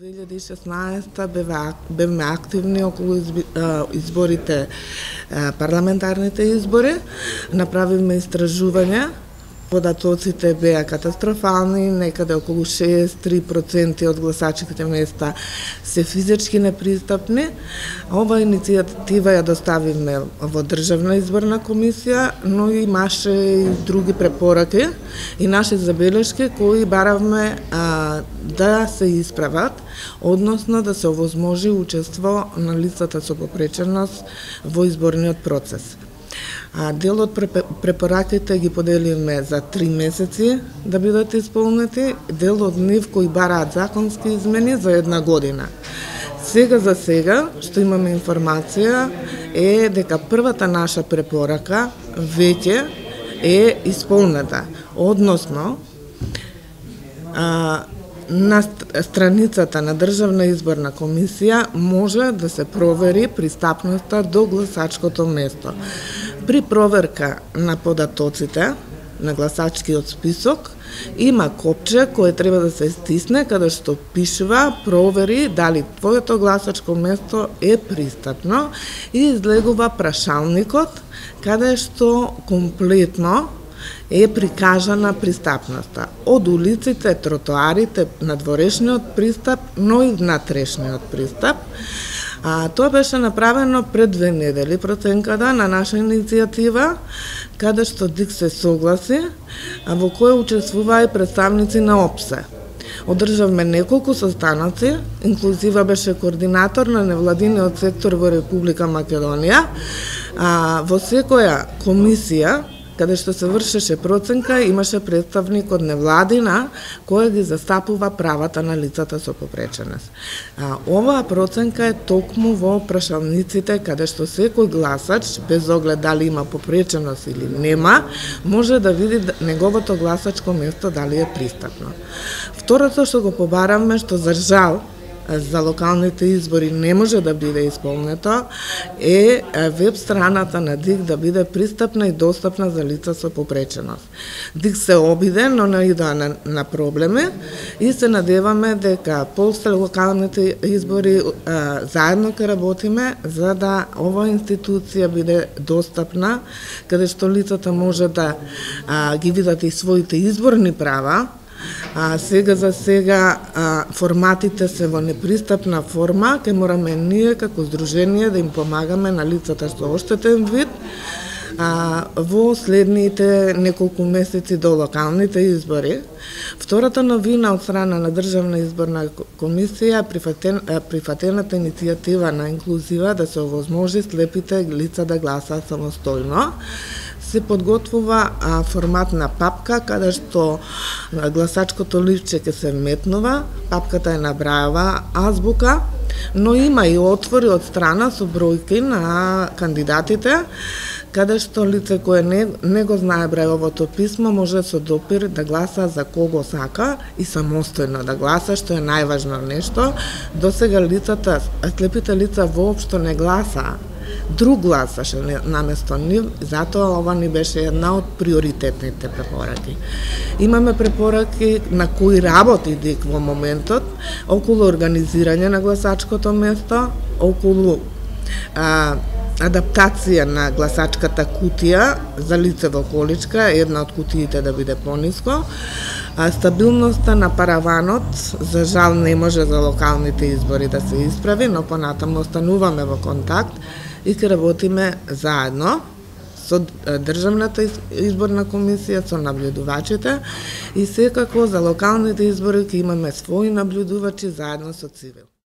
2016 бевме активни околу изборите, парламентарните избори. Направивме истражување. Податоците беа катастрофални, некаде околу 63% од гласачките места се физички непристапни. Ова иницијатива ја доставивме во Државна изборна комисија, но имаше и други препораки и наши забелешки кои баравме да се исправат, односно да се овозможи учество на лицата со попреченост во изборниот процес. Дел од препораките ги поделивме за 3 месеци да бидат исполнети, дел од нив кои бараат законски измени за 1 година. За сега, што имаме информација, е дека првата наша препорака веќе е исполнета, односно на страницата на Државна изборна комисија може да се провери пристапноста до гласачкото место. При проверка на податоците на гласачкиот список има копче кое треба да се стисне каде што пишува провери дали твоето гласачко место е пристапно и излегува прашалникот каде што комплетно е прикажана пристапноста. Од улиците, тротоарите, надворешниот пристап, но и внатрешниот пристап. Тоа беше направено пред 2 недели проценката на наша иницијатива, каде што ДИК се согласи, во која учествуваа и представници на ОПСЕ. Одржавме неколку состаноци, инклузива беше координатор на невладиниот сектор во Република Македонија, во секоја комисија каде што се вршеше проценка, имаше представник од невладина која ги застапува правата на лицата со попреченост. Оваа проценка е токму во прашалниците каде што секој гласач, без оглед дали има попреченост или нема, може да види неговото гласачко место дали е пристапно. Второто што го побаравме, што за жал за локалните избори не може да биде исполнето, е веб страната на ДИК да биде пристапна и достапна за лица со попреченост. ДИК се обиде, но наидоа на проблеми и се надеваме дека после локалните избори заедно ќе работиме за да ова институција биде достапна, каде што лицата може да ги видат и своите изборни права. За сега форматите се во непристапна форма, ке мораме ние како здружение да им помагаме на лицата со оштетен вид во следните неколку месеци до локалните избори. Втората новина од страна на Државна изборна комисија прифатената иницијатива на инклузива да се овозможи слепите лица да гласаат самостојно. Се подготвува формат на папка, каде што гласачкото листче ќе се вметнува, папката е на Брајова азбука, но има и отвори од страна со бројки на кандидатите, каде што лице кое не го знае Брајовото писмо може со допир да гласа за кого сака и самостојно да гласа, што е најважно нешто. До сега слепите лица воопшто не гласаа. Друг гласаше наместо нив, затоа ова ни беше една од приоритетните препораки. Имаме препораки на кои работи ДИК во моментот, околу организирање на гласачкото место, околу адаптација на гласачката кутија за лице во количка, една од кутиите да биде пониско, стабилноста на параванот, за жал не може за локалните избори да се исправи, но понатаму остануваме во контакт и ќе работиме заедно со Државната изборна комисија, со наблюдувачите и секако за локалните избори ќе имаме своји наблюдувачи заедно со ЦИВИЛ.